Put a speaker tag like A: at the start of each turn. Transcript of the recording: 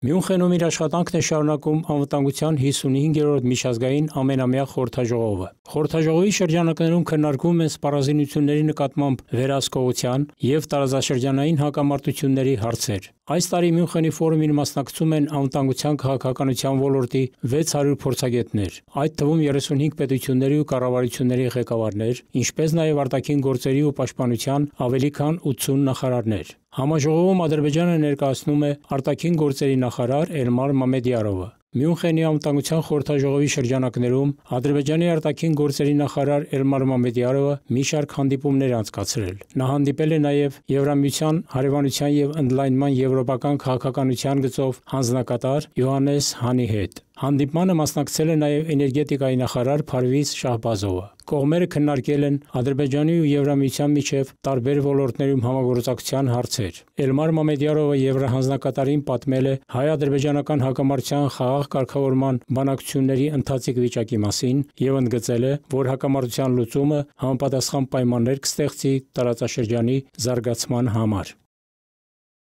A: Մյունխենում իր աշխատանքն է շարունակում անվտանգության 55-րդ միջազգային ամենամյա խորհրդաժողովը։ Խորհրդաժողովի շրջանակներում քննարկվում են սպառազինությունների նկատմամբ վերահսկողության և տարածաշրջանային հակամարտությունների հարցեր։ Այս տարի Մյունխենի ֆորումին մասնակցում են անվտանգության քաղաքականության ոլորտի 600 փորձագետներ, այդ թվում 35 պետությունների ու կառավարությունների ղեկավարներ, ինչպես նաև արտաքին գործերի ու պաշտպանության ավելի քան 80 նախարարներ։ Համաժողովում Ադրբեջանը ներկայացնում է արտաքին գործերի նախարար Էլմար Մամեդյարովը։ Մյունխենի անվտանգության խորհրդաժողովի շրջանակներում Ադրբեջանի արտաքին գործերի նախարար Էլմար Մամեդյարովը մի շարք հանդիպումներ է անցկացրել։ Նա հանդիպել է նաև Եվրամիության հարևանության և ընդլայնման եվրոպական քաղաքականության գծով հանձնակատար Յոհաննես Հանի հետ։ Հանդիպմանը մասնակցել է նաև էներգետիկայի նախարար Փարվիզ Շահբազովը։ Կողմերը քննարկել են Ադրբեջանի ու Եվրամիության միջև տարբեր ոլորտներում համագործակցության հարցեր։ Էլմար Մամեդյարովը եվրահանձնակատարին պատմել է հայ-ադրբեջանական հակամարտության խաղաղ կարգավորման բանակցությունների ընթացիկ վիճակի մասին և ընդգծել է, որ հակամարտության լուծումը համապատասխան պայմաններ կստեղծի տարածաշրջանի զարգացման համար։